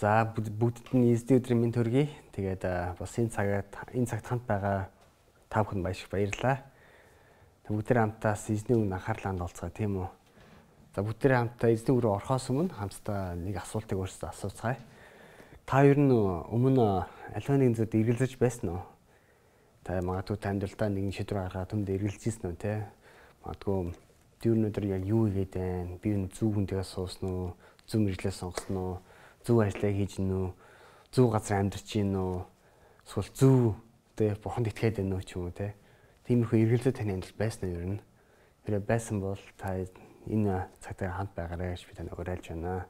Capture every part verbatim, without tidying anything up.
За бүгдд нь эзний өдрийн мэнд төргий. Тэгээд бас энэ цагт энэ цагт хамт байгаа та бүхэнд баяр баярлалаа. Бүгдээ хамтаас эзний өмнө анхаарлаа хандуулцгаа тийм үү. За бүгдээ хамтаа эзний өрөө орохоос өмнө хамтдаа нэг асуултыг өөрсдөө асууцгаая. Та ер нь өмнө аливаа нэгэн зүйлд эргэлзэж байсан уу? Та магадгүй та амьдралдаа нэгэн шийдвэр гаргаад түнд эргэлзсэн үү те? Магадгүй тэр өнөдөр яг юу хийгээд байна? Би энэ зөв хүнтэйгээ суусан уу? Зөв мэдлээ сонгосон уу? Зөв ажиллаа хийж гин үү? Зөв газар амьдарч гин үү? Эсвэл зөв тэ бурханд итгээд байна уу ч юм уу те? Тиймэрхүү эргэлзээ таны амьдралд байсан нь ер нь. Тэр байсан бол та энэ цагтаа хамт байгаарай гэж би таныг уриалж байна.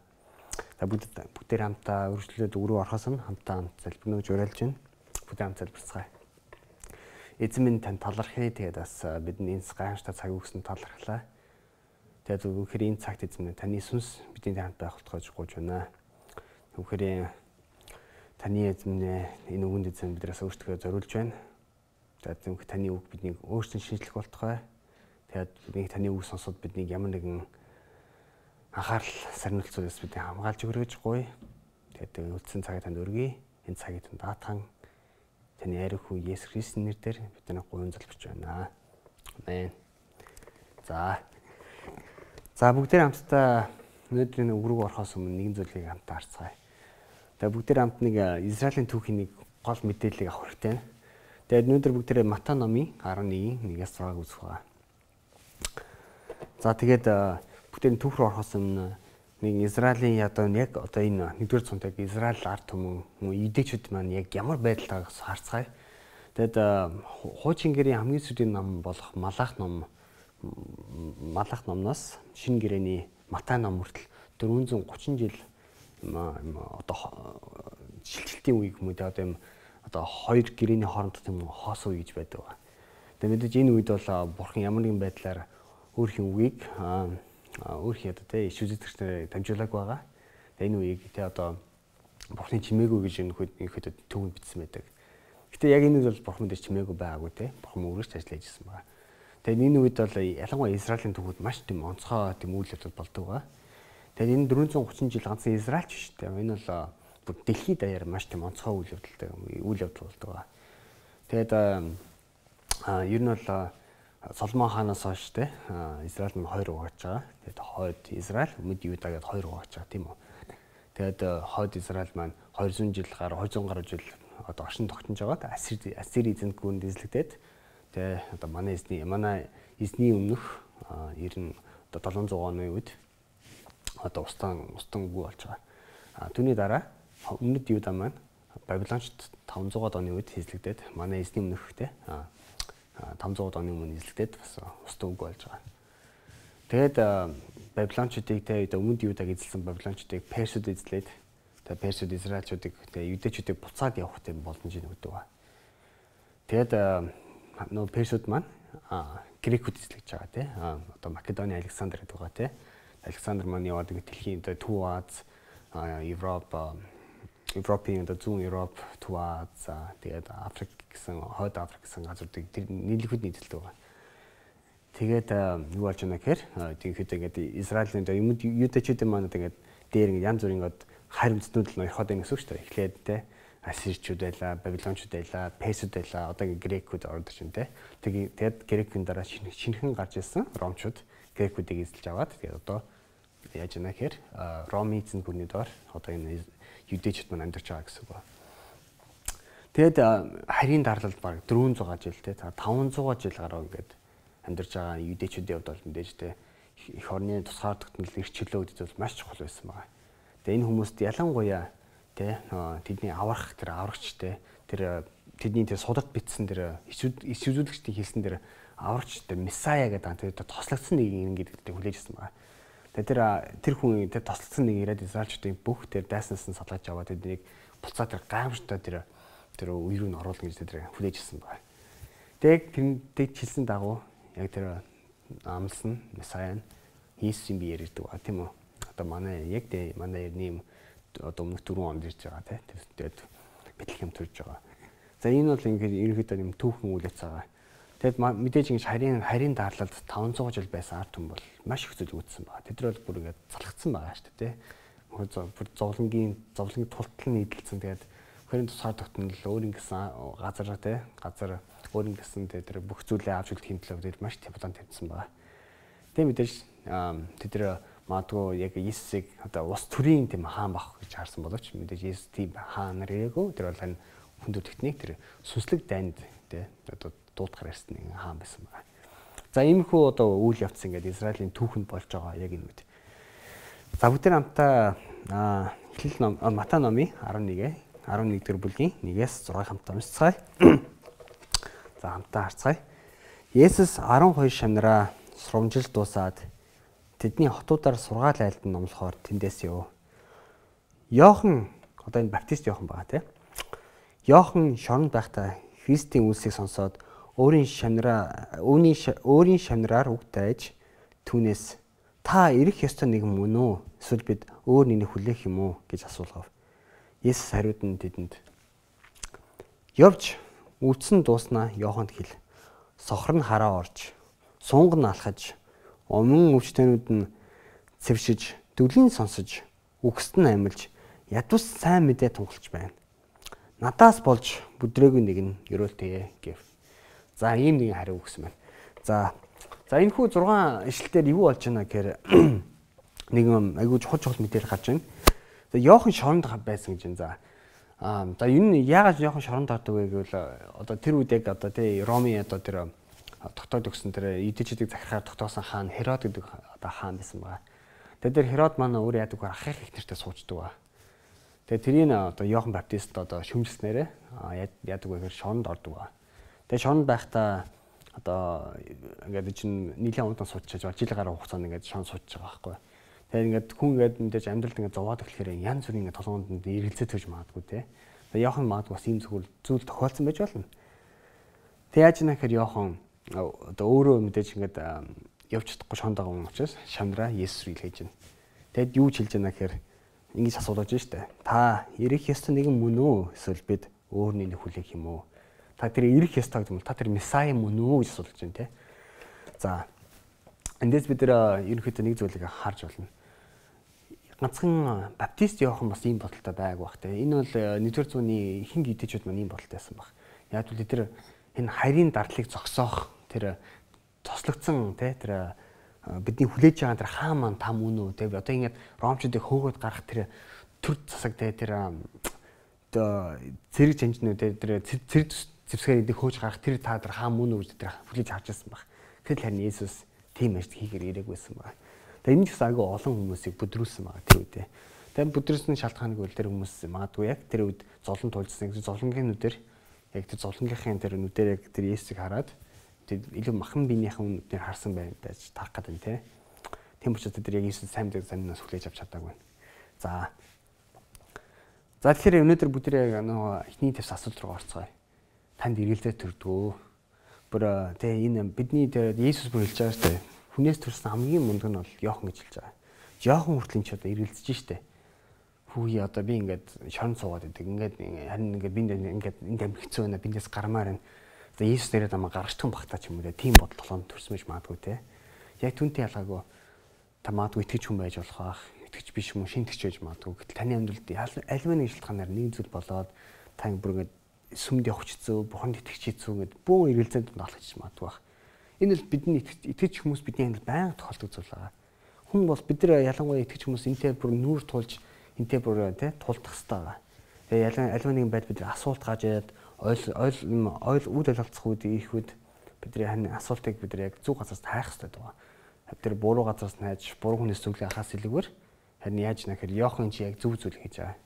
За бүгд бүгдээр хамтаа өргөжлөлөд өрөө орохоос нь хамтаа хамт залбирна гэж уриалж байна. Бүгдээ хамт залбирцгаая. Эзэн минь тань талархъя. Тэгээд бас бидний энэ гайхамшигтай цаг өгсөн талархлаа. Тэгээд зөвхөн энэ цагт эзэн минь таны сүнс бидний хамт байх болтгож гуйж байна. Зөвхөн таны эзэн минь энэ үгэнд эзэн бидрээс өөртөө зориулж байна. Тэгээд зөвхөн таны үг биднийг өөрчлөн шинжлэх болтугай. Тэгээд бидний таны үг сонсоод биднийг ямар нэгэн анхаарал сарниулцуудаас биднийг хамгаалж өгөрөж гуй. Тэгээд үлдсэн цагт танд өргөе. Энэ цагийг тань даатхан таны ариун хүү Есүс Христосийн нэрээр бид таныг гуйн залбирч байна. Амен. За. За бүгдээ хамтдаа өнөөдрийн өргөг орохоос өмнө нэгэн зүйлийг хамтдаа харцгаая. Тэгээд бүгдээ хамт нэг Израилийн түүхийн нэг гол мэдээллийг авах хэрэгтэй байна. Тэгээд өнөөдөр бүгдээ Матай номын арван нэгin нэгээс зураг үзэх байгаа. За тэгээд бүгдээ түүх рүү орохоос өмнө нэг Израилийн одоо яг одоо энэ нэгдүгээр цонтойг Израиль ард түмэн юдэчүүд маань яг ямар байдалтай харцгаая. Тэгэд хуучин гэрийн хамгийн сүүлийн ном болох Малах ном Малах номноос шинэ гэрээний Матай ном хүртэл дөрвөн зуун гучин жил одоо шилжилтийн үеиг юм уу те одоо юм одоо хоёр гэрээний хооронд тийм хоос үе гэж байдаг. Тэгээд мэдээж энэ үед бол бурхан ямар нэгэн байдлаар өөрхийн үгийг өөрхийн одоо те иш үзэгчдээр дамжуулаагүй байгаа. Тэгээд энэ үеийг те одоо бурханы чимээгүй гэж энэ ихэд төвөнд бичсэн байдаг. Гэтэ яг энэ үед бол бурхан дээр чимээгүй байгаагүй те бурхан өөрөөс ч ажиллаж ирсэн байгаа. Тэгээд энэ үед бол ялангуяа Израилийн түүхүүд маш тийм онцгой тийм үйл явдал болдог байгаа. Тэгээд энэ дөрвөн зуун гучин жил ганцхан Израиль ч шүү дээ. Энэ бол бүр дэлхийд даяар маш тийм онцгой үйл явдалтай үйл явдал болдог байгаа. Тэгээд а ер нь бол Соломон хаанаас хойш те Израиль нь хоёр угааж байгаа. Тэгээд хойд Израиль, өмнөд Юда гэдээ хоёр угааж байгаа тийм үү. Тэгээд хойд Израиль маань двухсот жил гаруй двухсот гаруй жил одоо оршин тогтнож байгаа. Ассир Ассир эзэнт гүрэнд эзлэгдээд тэ одоо манай эзний манай эзний өмнөх ер нь одоо долоон зуун оны үед одоо устан устан үгүй болж байгаа. А түүний дараа өмнөд Юда маань Бабилончд таван зуун оны үед эзлэгдээд манай эзний өмнөх тэ таван зуун оны өмнө эзлэгдээд бас устан үгүй болж байгаа. Тэгээд Бабилончдыг тэ өмнөд Юдаг эзэлсэн Бабилончдыг Персүүд эзлээд тэ Персүүд Израильчуудыг тэ Юдэчүүдийг буцаад явах тийм боломжийг өгдөг ба. Тэгээд нөө Персүүд маань Грекүүд эзлэж байгаа тий. Одоо Македоны Александр гэдэг байгаа тий. Александр маань яваад дэлхийн Төв Аз, Европ, Европын одоо зүүн Европ, Төв Аз, тэгээд Африк гэсэн хойд Африк гэсэн газруудыг тэр нийлэхэд нийтэлдэг байгаа. Тэгээд юу болж байна гэхээр тиймээд ингээд Израилийн юмд юдэчүүд маань тэгээд дээр ингээд янз бүрийн ингээд харь үндэстнүүд л орхоод байна гэсэн үг шүү дээ. Эхлээд тий. Ассирчүүд байлаа, Бабилончууд байлаа, Персүүд байлаа, одоогийн Грекүүд ордож байна те. Тэгээд Грекийн дараа шинэхэн гарч ирсэн Ромчууд Грекүүдийг эзэлж аваад тэгээд одоо яаж яана гэхээр Ромын эзэн гүрний доор одоо энэ юдэчүүд маань амьдарч байгаа гэсэн үг ба. Тэгээд харийн дарлалд баг дөрвөн зуун жил те таван зуун жил гаруй ингээд амьдарч байгаа юдэчүүдийн хувьд бол мэдээж те эх орны тусгаар тогтнол эрхчлөө гэдэг бол маш чухал байсан байгаа. Тэгээд энэ хүмүүст ялангуяа тэ тэдний аврах тэр аврагчтэй тэр тэдний тэр судалт бичсэн тэр иш үзүүлэгчдийн хэлсэн тэр аврагч тэр месая гэдэг тэр тослогдсон нэг юм гэдэг хүлээжсэн байгаа. Тэгээ тэр тэр хүн тэр тослогдсон нэг ирээд Израильчдын бүх тэр дайснаас нь салгаж аваад тэднийг буцаа тэр гайхамшигтай тэр тэр үе рүү н оруулна гэж тэр хүлээжсэн байгаа. Тэгээ тэнд хэлсэн дагуу яг тэр амлсан месая нь Иесусийн биеэр ирдэг ба тийм үү. Одоо манай яг тэ манай эртний одоо өмнөх дөрвөн онд ирж байгаа тий. Тэгээд Бэтлехэм төрж байгаа. За энэ бол ингээд ерөнхийдөө юм түүхэн үйл явцгаа. Тэгэд мэдээж ингэж харийн харийн дарлалд таван зуун жил байсан ард түмэн бол маш их зүйл үүдсэн байгаа. Тэд нар бол бүр ингээд залхацсан байгаа шүү дээ тий. бүр зовлонгийн зовлонгийн тултал нь нийлэлсэн. Тэгээд хөрийн тусгаар тогтнол өөр ингэсэн газар тий газар өөр ингэсэн тэр бүх зүйлээ авч үлдэхийн төлөө тэр маш план тавьсан байгаа. Тэгээд мэдээж тэд нар магадгүй яг Иесусыг одоо ус төрийн тийм хаан бах гэж харсан боловч мэдээж Иесус тийм хаан нар ирээгүй. Тэр бол харин хүнд техник тэр сүнслэг дайнд тий одоо дуудахаар ирсэн нэг хаан байсан байна. За иймэрхүү одоо үйл явц ингээд Израилийн түүхэнд болж байгаа яг энэ үед. За бүгдээ хамтаа Эхлэл ном Матай номын арван нэг арван нэгдүгээр бүлгийн нэгээс зургааг хамтаа уншицгаая. За хамтаа харцгаая. Есүс арван хоёр шамнараа сурамжилж дуусаад тэдний хотуудаар сургаал айлд нь номлохоор тэндээс яв. Йохан одоо энэ баптист Йохан байгаа тийм. Йохан шоронд байхдаа Христийн үлсийг сонсоод өөрийн шамнараа өөрийн өөрийн шамнараар үг дайж түүнээс та ирэх ёстой нэг юм уу? Эсвэл бид өөр нэгийг хүлээх юм уу гэж асуулгав. Есүс хариуд нь тэдэнд явж үлдсэн дууснаа Йоханд хэл. Сохор нь хараа орж, сунг нь алхаж, өмнө өвчтөнүүд нь цэвшиж, дүлийн сонсож, үгсд нь амилж, ядус сайн мэдээ тунгалж байна. Надаас болж бүдрээгүй нэг нь ерөөлтэй гэв. За ийм нэгэн хариу өгсөн байна. За за энэ хүү зургаан ишлэлээр юу болж байна гэхээр нэг юм айгүй чухал чухал мэдээлэл гарч байна. За Йохан шоронд байсан гэж байна. За аа за энэ яагаад Йохан шоронд ордог вэ гэвэл одоо тэр үед яг одоо тий Ромын одоо тэр тогтоод өгсөн тэр эдэчүүдийг захирахаар тогтоосон хаан Херод гэдэг одоо хаан байсан байгаа. Тэгээд тэр Херод маань өөр яадаг вэ? Ахих их нэртэй суучдаг ба. Тэгээд тэрийг одоо Йохан Баптист одоо шүмжснээрээ яадаг вэ гэхээр шоронд ордог ба. Тэгээд шоронд байхдаа одоо ингээд чинь нийлэн удаан суучиж байгаа жилийн гаруй хугацаанд ингээд шоронд суучиж байгаа байхгүй. Тэгээд ингээд хүн ингээд мэдээж амьдралд ингээд зовоод эхлэхээр янз бүрийн ингээд толгоонд эргэлзээ төрж магадгүй те. Тэгээд Йохан магадгүй бас ийм зүйл зүйл тохиолдсон байж болно. Тэгээд яаж нэ гэхээр Йохан одоо өөрөө мэдээж ингээд явж чадахгүй шоронд байгаа юм учраас шамдраа Есүс рүү илгээж байна. Тэгэд юу ч хэлж байна гэхээр ингэж асуулж байна штэ. Та ирэх ёстой нэгэн мөн үү? Эсвэл бид өөр нэг хүлээх юм уу? Та тэр ирэх ёстой гэдэг юм. Та тэр месай мөн үү гэж асуулж байна те. За эндээс бид нэр ерөнхийдөө нэг зүйлийг харж болно. Ганцхан баптист Йохан бас ийм бодолтой байг бах те. Энэ бол нэгдүгээр зууны ихэнх идэвчүүд маань ийм бодолтой байсан баг. Яг л тэр энэ харийн дардлыг зогсоох тэр тослогдсон те тэр бидний хүлээж байгаа тэр хаан маань та мөн үү те. Одоо ингээд ромчуудыг хөөгөөд гарах тэр төр засаг те тэр одоо зэрэг жанжнууд те тэр зэрэг зэвсгээр эдийг хөөж гарах тэр та тэр хаан мөн үү гэж тэр хүлээж харж байсан баг. Тэгэл харин Есүс тийм ажил хийхээр ирээгүй байсан баг. Тэгээ энэ ч бас агай олон хүмүүсийг бүдрүүлсэн байгаа тэр үедээ. Тэгээ бүдрүүлсэн шалтгааныг бол тэр хүмүүс магадгүй яг тэр үед зовлон тулжсан. Зовлонгийн нүдээр яг тэр зовлонгийнхын тэр нүдээр яг тэр Есүсийг хараад тэр илүү махан биенийхэн нүдээр харсан байх байж тарах гэдэг нь те. Тийм учраас тэр яг Есүс сайн мэдээг санаас хүлээж авч чадаагүй. За. За тэгэхээр өнөөдөр бүдрээ нөгөө эхний твс асуулт руу орцгоё. Танд эргэлзээ төрдгөө. Бүр те энэ бидний тэр Есүс бүр хэлж байгаа шүү дээ. Хүнээс төрсэн хамгийн мундаг нь бол Йохан гэж хэлж байгаа. Йохан хүртэл ч одоо эргэлзэж штэ. Хүүе одоо би ингээд шорон суугаад идэг. Ингээд харин ингээд бинд ингээд энд амигцсан байна. Биндээс гармаар байна. За Есүс нэрээр намайг гаргачтан багтаа ч юм уу тийм бодол толгойд төрсөн байж магадгүй те. Яг түнтэй ялгаагүй та магадгүй итгэж хүн байж болох ах. Итгэж биш юм уу шинтгэж байж магадгүй. Гэтэл таны амьдралд альва нэг шалтгаанаар нэг зүйл болоод та бүр ингээд сүмд явах хэцүү, бурханд итгэж хэцүү гэд бөөн эргэлзээнд олгож магадгүй бах. Энэ бол бидний итгэж хүмүүс бидний амьдралд байнга тохиолдог зүйл байгаа. Хүн бол бид нар ялангуяа итгэж хүмүүс энтэй бүр нүүр тулж энтэй бүр тий тулдах хэрэгтэй байгаа. Тэгээ ялан альва нэгэн байд бид нар асуулт гажаад ойл ойл ойл үйл ойлголцох үед их үед бидний хань асуултыг бид нар яг зөв газраас хайх хэрэгтэй байгаа. Бид нар буруу газраас нь хайж буруу хүнээс зөвлөө ахаас илүүгээр харин яаж нэхэр Йохан чи яг зөв зүйл хийж байгаа.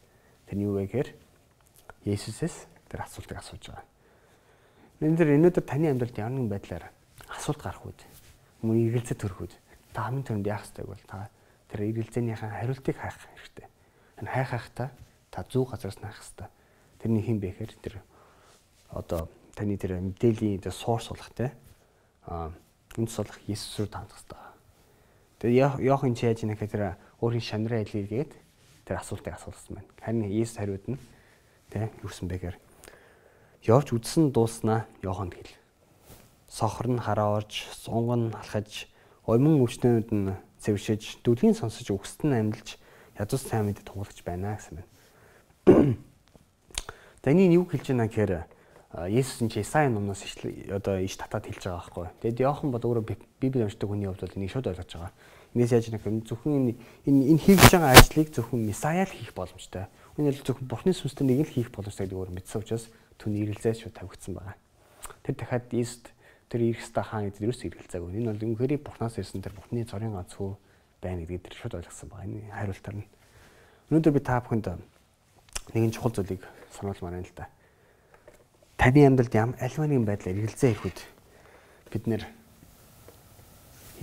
Тэр нь юу вэ гэхээр Есүсээс тэр асуултыг асууж байгаа. Энэ дэр өнөөдөр таны амьдралд ямар нэгэн байдлаар асуулт гарах үед мөн эргэлзээ төрөх үед та хамгийн түрүүнд яах ёстой бол та тэр эргэлзээнийхэн хариултыг хайх хэрэгтэй. Энэ хайх хайхтаа та зөв газараас нь хайх ёстой. Тэрний хэн бэ гэхээр тэр одоо таны тэр мэдээллийн тэр source болох те а үндэс болох Есүс рүү таандах ёстой. Тэгээ Йохан чи яаж нэхэ тэр өөрийн шамраа илгээгээд тэр асуултыг асуулсан байна. Харин Есүс хариуд нь те юусэн бэ гэхээр явж үдсэн дууснаа Йоханд хэл. Сохор нь хараа орж, сунг нь алхаж, оймон өвчтөнүүд нь цэвшиж, дүлийн сонсож үгсд нь амьлж, язуу сайн мэдээ тунгалагч байна гэсэн байна. За энэ юу хэлж байна гэхээр Есүс энэ Исаи номноос одоо иш татаад хэлж байгаа байхгүй. Тэгэд Иохан бол өөрөө Библи уншдаг хүний хувьд бол энийг шууд ойлгож байгаа. Инээс яаж нэг зөвхөн энэ энэ хийж байгаа ажлыг зөвхөн Исаи л хийх боломжтой. Үүнээр зөвхөн Бурхны сүнстэй нэг л хийх боломжтой гэдэг өөр мэдсэн учраас түүний эргэлзээс шууд тавигдсан байгаа. Тэр дахиад Есүст тэр Иерхста хаан гэдэг юус эргэлзээгүй. Энэ бол үнэхээр Бурхнаас ирсэн тэр Бурхны цорын ганц хүү байна гэдгийг тэр шууд ойлгосон байгаа. Энэ хариултаар нь. Өнөөдөр би та бүхэнд нэгэн чухал зүйлийг сануулмаар байна л да. Таны амьдралд ямар альва нэгэн байдлаар эргэлзээ ирэхэд бид нэр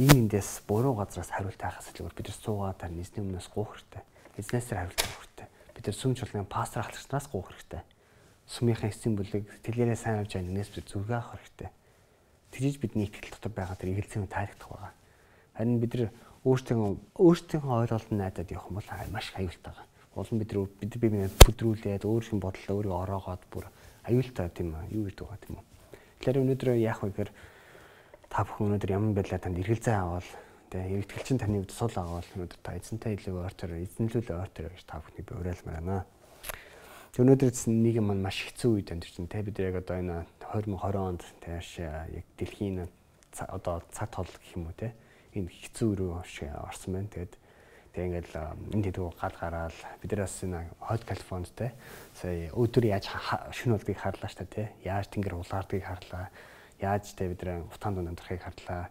ийм эндээс буруу газраас хариулт хайхаас илүүгээр бид нар суугаад тань эзний өмнөөс гуух хэрэгтэй. Эзнээсээ хариулт авах хэрэгтэй. Бид нар сүм чуулганы пастор ахлагчнаас гуух хэрэгтэй. Сүмийнхээ эцсийн бүлэг тэлгээрээ сайн авч байгаа нэгнээс бид зүргээ авах хэрэгтэй. Тэгж бидний итгэл дотор байгаа тэр эргэлзээний таалагдах байгаа. Харин бид нар өөртөө өөртөөхөө ойлголтод найдаад явах юм бол маш аюултай байгаа. Улам бид нар бид биеийг бүдрүүлээд өөр юм бодлоо өөрийгөө ороогоод бүр аюултай тийм үү юу гэдэг байгаа тийм үү. Тэгэхээр өнөөдөр яах вэ гэхээр та бүхэн өнөөдөр ямар байдлаар танд эргэлзээ аваад тэгээ эргэлтгэлчин таны хувьд сул аваад өнөөдөр та эзэнтэй илүү ойртоор эзэнлүүл ойртоор гэж та бүхний би уриалмаар байна. Тэг өнөөдөр нэг юм маш хэцүү үед амьдарч байна те бид яг одоо энэ две тысячи двадцать онд тааш яг дэлхийн одоо цаг тол гэх юм уу те энэ хэцүү рүү орсон байна. Тэгээд тэг ингээл энэ дэдгүү гал гараал биднээс энэ хойд Калифорнид те сая өдөр яаж шөнө болдгийг харлаа ш та те яаж тэнгэр улаардгийг харлаа яаж те бид нэ утаанд ундрахыг харлаа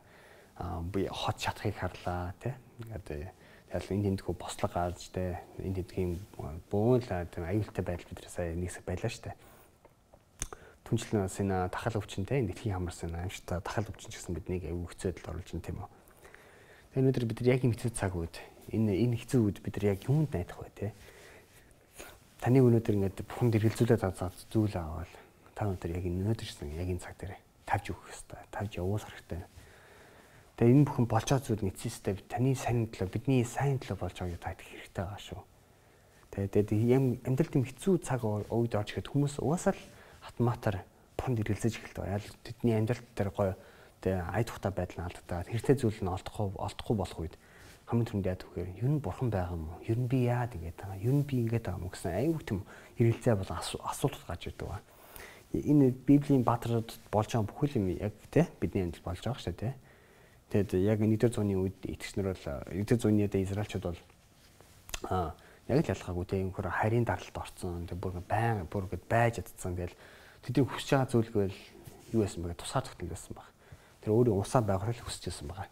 би хот шатахыг харлаа те ингээд тэгэл энэ дэдгүү бослог гарч те энэ дэдгийн бөөн л аюултай байдал бид сая нэгсэг байлаа ш та түнчлэнээс энэ тахал өвчин те энэ дэлхийн хамарсан аимшигтай тахал өвчин гэсэн биднийг аюул хэцүүдэд оруулж байна тийм үү. Тэгээ өнөөдөр бид нар яг энэ хэцүү цаг үед энэ энэ хэцүү үед бид нар яг юунд найдах вэ те? Таны өнөөдөр ингээд бүхэнд эргэлзүүлээд аваад зүйл аваад та өнөөдөр яг энэ өнөөдөрсэн яг энэ цаг дээр тавьж өгөх хэрэгтэй. Тавьж явуулах хэрэгтэй. Тэгээ энэ бүхэн болж байгаа зүйл эцэстээ таны сайн төлөө бидний сайн төлөө болж байгааг та идэх хэрэгтэй байгаа шүү. Тэгээ тэгээд амьдралд юм хэцүү цаг үед орж ирэхэд хүмүүс угаасаа л автоматар бүхэнд эргэлзэж эхэлдэг. Яг тэдний амьдрал дээр гоё тэгээ ая тухтай байдал нь алдагдаад хэрэгтэй зүйл нь олдохгүй олдохгүй болох үед хамгийн түрүүнд яадаг вэ? Ер нь бурхан байгаа юм уу? Ер нь би яад ингэж байгаа? Ер нь би ингэж байгаа юм уу гэсэн аюу тийм эргэлзээ бол асуулт гарч ирдэг ба. Энэ Библийн баатрууд болж байгаа бүхэл юм яг тий бидний амьдрал болж байгаа шүү дээ. Тэгэд яг нэгдүгээр зууны үед итгэгчнэр бол нэгдүгээр зууны үед Израильчууд бол аа яг л ялгаагүй тий өнөхөр харийн даралт орцсон. Тэг бүр байн бүр ингэж байж чадсан. Тэгэл тэдний хүсэж байгаа зүйлгүй л юу байсан бэ? Тусгаар тогтмол байсан баг. Тэр өөрийн усаа байгуулах хүсэж байсан байгаа.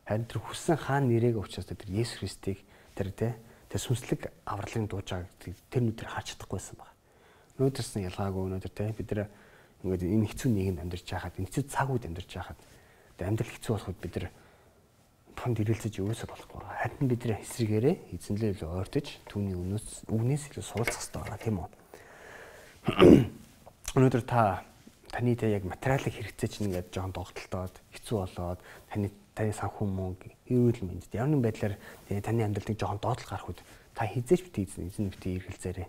Харин тэр хүссэн хаан нэрийг учраас тэр Есүс Христийг тэр тэ тэр сүнслэг авралын дууж байгааг тэр нүдээр харж чадахгүйсэн байна. Өнөөдөрсөн ялгаагүй өнөөдөр тэ бид нар ингээд энэ хэцүү нийгэмд амьдарч байхад энэ хэцүү цаг үед амьдарч байхад амьдрал хэцүү болоход бид нар фонд ирэлцэж юусаа болохгүй. Харин бид нар эсрэгээрээ эзэнлээ илүү ойртож түүний өмнөөс үгнээс илүү суралцах хэрэгтэй байгаа тийм үү. Өнөөдөр та таны тэ яг материалын хэрэгцээ чинь ингээд жоон догтлоод хэцүү болоод таны таны санхүү мөнгө эрүүл мэндэд ямар нэгэн байдлаар таны амьдралыг жоон доотлол гарах үед та хизээч бит эзэн эзэн бит эргэлзээрээ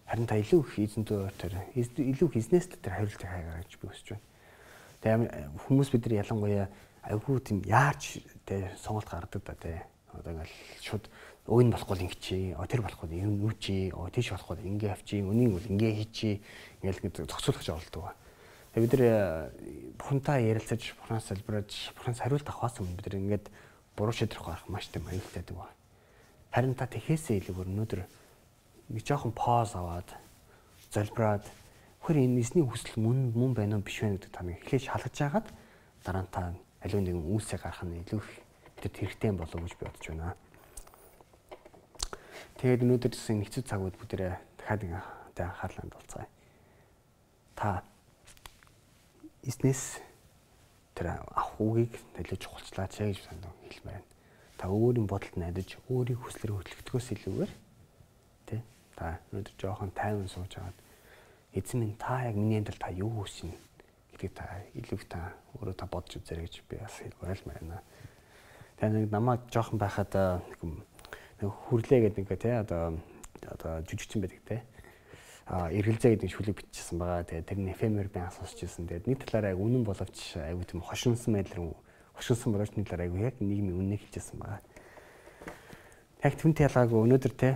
харин та илүү их эзэнтэй ойртоор илүү их эзнээс л тэр хариултыг хайгаа гэж би хүсэж байна. Тэгээ хүмүүс бид нар ялангуяа айгүй тийм яарч тэ сонголт гаргадаг да тэ одоо ингээл шууд өөний болохгүй ингэчээ тэр болохгүй юм нүчээ тийш болохгүй ингээ авчий өнийг бол ингээ хийчээ ингээл ингэ зохицуулах оролдог ба. Тэгээ бид нар бурхантай ярилцаж бурханаас залбираж бурханаас хариулт авахаас өмнө бид нар ингээд буруу шийдвэр гаргах маш тийм аюултай байдаг ба. Харин та тэхээсээ илүүгээр өнөөдөр нэг жоохон пауз аваад залбираад хөр энэ эзний хүсэл мөн мөн байна уу биш вэ гэдэг та нэг эхлэж шалгаж хагаад дараа нь та аливаа нэгэн үйлсээ гаргах нь илүү их бидэд хэрэгтэй болов гэж би бодож байна. Тэгээд өнөөдөр гэсэн хэцүү цагууд бүгдээ дахиад ингээ анхаарлаа хандуулцгаая. Та эзнээс тэр авах үгийг илүү чухалчлаач гэж санаа хэлмээр байна. Та өөрийн бодолд найдаж өөрийн хүслээр хөтлөгдөхөөс илүүгээр тий та өнөөдөр жоохон тайван сууж аваад эзэн минь та яг миний амьдрал та юу хүснэ гэдгийг та илүү та өөрөө та бодож үзээрэй гэж би бас уриалмаар байна. Тэгээ нэг намайг жоохон байхад нэг хүрлээ гэдэг нэг тий одоо одоо жүжигчин байдаг тий а эргэлзээ гэдэг шүлэг бичсэн байгаа. Тэгээ тэрний эфемер би асуусч ирсэн. Тэгээд нэг талаараа яг үнэн боловч айгүй тийм хошинсан байдлаар хошинсан боловч нэг талаараа айгүй яг нийгмийн үннийг хэлжсэн байгаа. Яг түнтэй ялгаагүй өнөөдөр те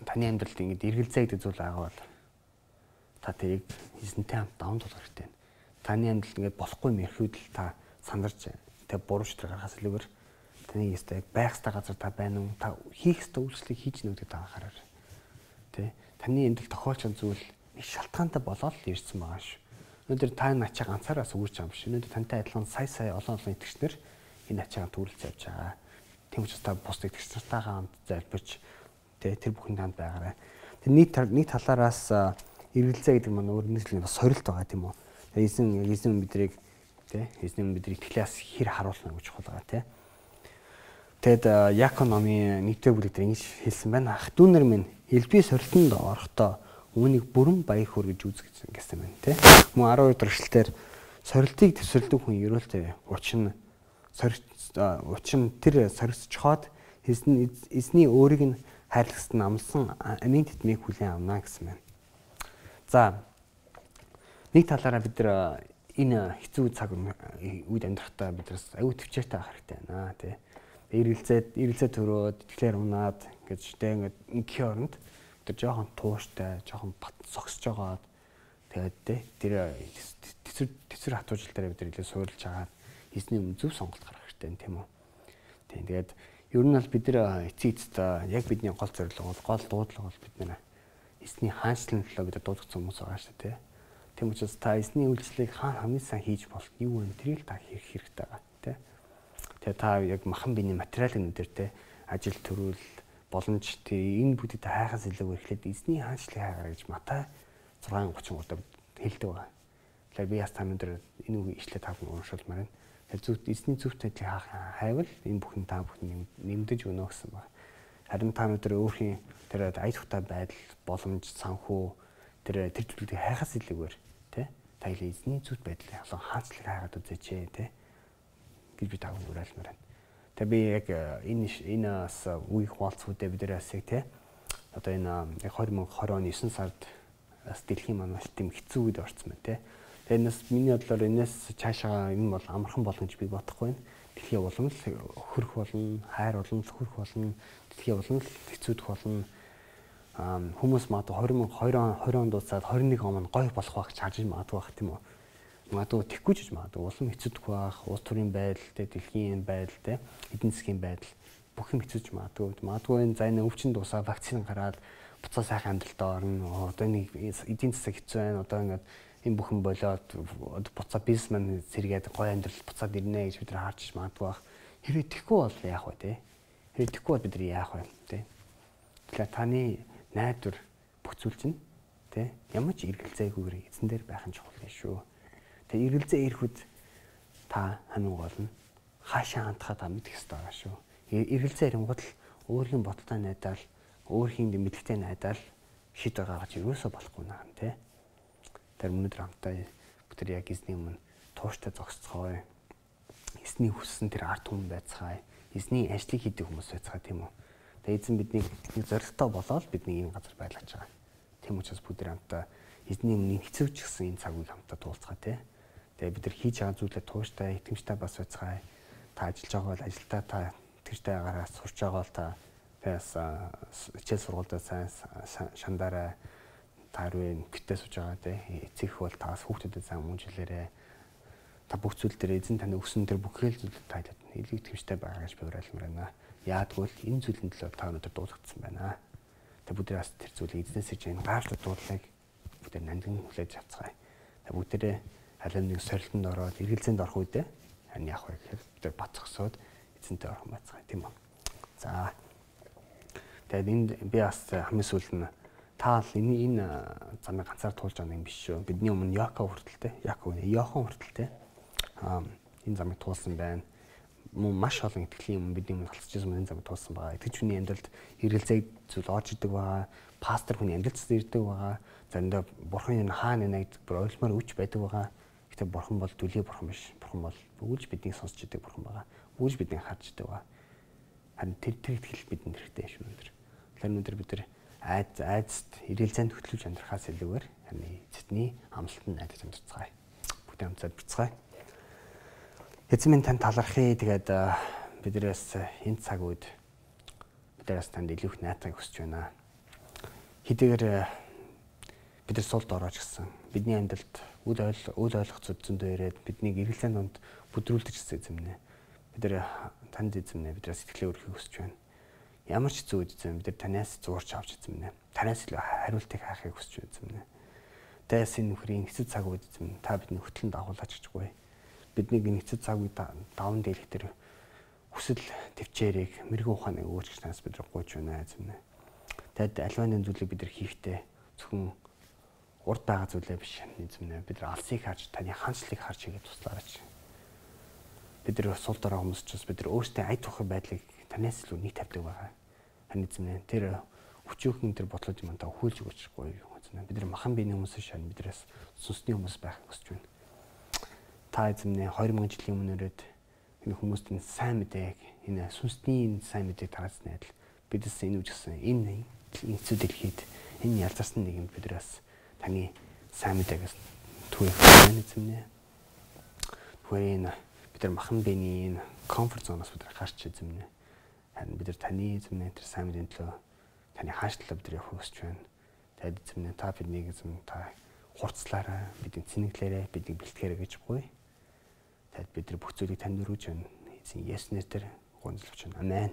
таны амьдралд ингэж эргэлзээ гэдэг зүйл байгаа бол та тэрийг эзэнтэй хамт даван тулах хэрэгтэй. Таны амьдралд ингэж болохгүй мэрхүүд л та сандарч те буруу шийдвэр гаргахаас илүүгээр таны ястай байх ёстой газар та байна уу? Та хийх ёстой үйлчлэгийг хийж гэнэ гэдэг та анхаараар. Тэ таны амьдрал тохиолч зүйл нэг шалтгаантай болоод л ирсэн байгаа шүү. Өнөөдөр та энэ ачаа ганцаараа сүгэрч байгаа юм биш. Өнөөдөр тантай адилхан сая сая олон олон итгэгчнэр энэ ачаагаа төрүүлж явж байгаа. Тийм учраас та бус итгэгчнартайгаа хамт залбирч тэ тэр бүхэнд хамт байгаарай. Тэр нийт нийт талаараас эргэлзээ гэдэг маань өөр нэг бас сорилт байгаа тийм үү. Эзэн эзэн бидрийг тэ эзэн бидрийг итгэлээс хэр харуулна гэж чухал байгаа тэ. Тэгэд Яаков номын нэгдүгээр бүлэг дээр ингэж хэлсэн байна. Ах дүүнэр минь элбий сорилтонд орохдоо үүнийг бүрэн баяр хөөр гэж үзэх гэсэн байна тэ. Мөн арав хоёр дахь эшлэлээр сорилтыг төсөөлдөг хүн ерөөлтэй учин сорилт учин тэр соригч чохоод эзэн эзний өөрийг нь хайрлагсад намсан амийн тэтмийг хүлээн авна гэсэн байна. За нэг талаараа бид нар энэ хэцүү цаг үед амьдрахтаа биднээс аюу төвчээртэй авах хэрэгтэй байна тий. Эргэлзээд эргэлзээ төрөөд тэгэхээр унаад гэж тэ ингээд ингийн оронд тэр жоохон тууштай, жоохон бат согсож байгаад тэгээд тэ тэр тэсвэр хатуужил дээр бид нар илүү суурилж хагаад эзний өмнө зөв сонголт гаргах хэрэгтэй тийм үү. Тийм тэгээд ер нь бол бид нар эцэг эцэст яг бидний гол зорилго бол гол дуудлага бол бид нар эзний хаанчлалын төлөө бид дуудагдсан хүмүүс байгаа шүү дээ. Тийм учраас та эзний үйлчлэгийг хаана хамгийн сайн хийж болох юу вэ? Тэрийг та хийх хэрэгтэй байгаа тийм. Тэгээ та яг махан биений материалын өдөр те ажил төрүүл боломж тэр энэ бүтэд хайхаас илүү ирэхлээр эзний хаанчлалыг хайгаарай гэж Матай зургаан гучин гурав хэлдэг байгаа. Тэгэхээр би яс та өнөөдөр энэ үгийг ишлээ та бүхэн уншуулмаар байна. Тэгэхээр зөв эзний зөвхт ажлыг хайвал энэ бүхэн та бүхэн нэмдэж өнөө гэсэн байна. Харин та өнөөдөр өөрхийн тэр ая тухтай байдал боломж санхүү тэр тэр зүйлийг хайхаас илүүгээр те та эзний зөвхт байдлыг олон хаанчлалыг хайгаад үзээч те гэж би тав уриалмаар байна. Тэгээ би яг энэ энэ бас үеийг хуваалцуудаа бид нэрээс те одоо энэ хоёр мянга двадцать оны девятнадцать сард бас дэлхийн маань маш тийм хэцүү үед орсон байна те. Тэгээ энэс миний бодлоор энэс цаашаа энэ бол амархан болно гэж би бодохгүй байна. Дэлхийн улам л хөрөх болно, хайр улам л хөрөх болно, дэлхийн улам л хэцүүдэх болно. Аа хүмүүс маад двадцать двадцать он дуусаад двадцать one он гоё болох байх гэж харж магадгүй байх тийм үү. Магадгүй тэхгүй ч магадгүй улам хэцүүдэх байх, улс төрийн байдал, тэ дэлхийн байдал, тэ эдийн засгийн байдал бүх юм хэцүүж магадгүй. Магадгүй энэ за энэ өвчин дуусаа вакцин гараад буцаа сайхан амьдралтаа орно. Одоо нэг эдийн засаг хэцүү байна. Одоо ингээд энэ бүхэн болоод буцаа бизнесмен сэргээд гоё амьдрал буцаад ирнэ гэж бид нар харж магадгүй байх. Хэрвээ тэхгүй бол яах вэ, тэ? Хэрвээ тэхгүй бол бид нар яах вэ, тэ? Тэгэхээр таны найдвар бүх зүйл чинь тэ ямар ч эргэлзээгүйгээр эзэн дээр байх нь чухал юм шүү. Тэгээ эргэлзээ ирэхэд та хамгийн гол нь хаашаа хандхаа та мэдэх хэрэгтэй байгаа шүү. Эргэлзээ ирэнгүүт л өөрийн бодолтой найдаал, өөрхийн мэдлэгтэй найдаал шийдвэр гаргаж ерөөсөө болохгүй наа тий. Тэр өнөөдөр хамтаа бүтэр яг эзний өмнө тууштай зогсцгоё. Эзний хүссэн тэр ард түмэн байцгаая. Эзний ажлыг хийдэг хүмүүс байцгаая тийм үү. Тэгээ эзэн биднийг нэг зоригтой болоод бидний энэ газар байлгаж байгаа. Тийм учраас бүгд хамтаа эзний өмнө хэцүүч гсэн энэ цаг үеийг хамтаа туулцгаа тий. Тэгээ бид нар хийж байгаа зүйлээ тууштай, итгэмжтэй бас байцгаая. Та ажиллаж байгаа бол ажилдаа та итгэжтэй байгаараа, сурч байгаа бол та тэгээс хичээл сургуультай сайн шандараа та руу гитээ сууж байгаа тий. Эцэг бол таас хүүхдүүдэд сайн мунжилээрээ. Та бүх зүйл дээр эзэн таны өгсөн тэр бүхэл зүйл та илүү итгэмжтэй байгаа гэж би уриалмаар байна. Яагтвэл энэ зүйлэн төлөө та өнөөдөр дуудагдсан байна. Тэгээ бүгд бас тэр зүйлийг эзнээс иж энэ гайхалтай дуудлагыг бүгд нандин хүлээж авцгаая. Тэгээ бүгдээрээ алим нэг сорилтонд ороод эргэлзээнд орох үедээ харин яах вэ гэхээр бид нар бат зогсоод эзэнтэй орох байцгаая тийм үү. За. Тэгээд энд би бас хамгийн сүүлд нь та л энэ энэ замыг ганцаар туулж байгаа юм биш шүү. Бидний өмнө Яаков хүртэлтэй, Яаков нэ Йохан хүртэлтэй. Аа энэ замыг туулсан байна. Мөн маш олон итгэлийн өмнө бидний өмнө халцж ирсэн энэ замыг туулсан байгаа. Итгэж хүний амьдралд эргэлзээ зүйл орж идэг байгаа. Пастор хүний амьдралд ирдэг байгаа. Заримдаа бурхан энэ хаана нэ гэдэг бүр ойлгомоор үуч байдаг байгаа. Гэтэ бурхан бол дүлий бурхан биш. Бурхан бол бүгд биднийг сонсч идэг бурхан байгаа. Бүгд биднийг харж идэг байгаа. Харин тэр тэр итгэл бидэнд хэрэгтэй шүү өнөдр. Тэгэхээр өнөдр бид нар айд айдст эргэлзээнд хөтлөж амьдрахаас илүүгээр харин эзний амлалтанд найдаж амьдрцгаая. Бүгд хамт залбирцгаая. Эзэн минь тань талархъя. Тэгээд биднээс энэ цаг үед бидээс танд илүү их наатахыг хүсэж байна. Хэдийгээр бид нар сулд орооч гэсэн бидний амьдралд үл ойл үл ойлгоцод зөндөө ирээд биднийг эргэлзээний донд бүдрүүлдэг гэсэн эзэмнэ. Бид нар танд эзэмнэ бидээс сэтгэлээ өргөхийг хүсэж байна. Ямар ч зүйл эзэм бид нар танаас зуурч авч эзэмнэ. Танаас илүү хариултыг хаахыг хүсэж эзэмнэ. Дайсын нөхрийн эцэд цаг үед эзэм та бидний хөтлөн дагуулж гिचгүй. Биднийг энэ эцэд цаг үед даван дийлэх тэр хүсэл төвчээрийг мэрэгэн ухааныг өгөөч гэж танаас бид нар гуйж байна эзэмнэ. Тэгэд альваны зүйлийг бид нар хийхдээ зөвхөн урд байгаа зүйлээ биш эзэмнэ. Бид нар алсыг харж таны хаанчлалыг харж хийгээд туслаарай. Бид нар сул дорой хүмүүс ч бас бид нар өөрсдөө ая тухай байдлыг танаас илүү нэг тавьдаг байгаа. Харин эзэмнэ тэр хүчөөхөн тэр бодлоод юм та хүлж өгөөчгүй эзэмнэ. Бид нар махан биений хүмүүс шань биднээс сүнсний хүмүүс байх хүсэж байна. Та эзэмнэ хоёр мянган жилийн өмнөрөөд энэ хүмүүст энэ сайн мэдээг энэ сүнсний энэ сайн мэдээг тараасны адил бидээс энэ үжигсэн энэ эцүү дэлхийд энэ ялзарсан нэгэнд биднээс таны сайн мэдээгээс түүх байна эзэмнэ. Түүгээр энэ бид нар махан биений энэ комфорт зоноос бид нар гарч эзэмнэ. Харин бид нар таны эзэмнэ тэр сайн мэдээний төлөө таны хаашлалаа бид нар явах хүсэж байна. Тэгэд эзэмнэ та биднийг эзэм та хурцлаарай, бидний цэнэглээрэй, бидний бэлтгэрэй гэж буй. Тэгэд бид нар бүх зүйлийг танд өргөж байна. Эзэн Есүс нэрээр гонцлогч байна. Амен.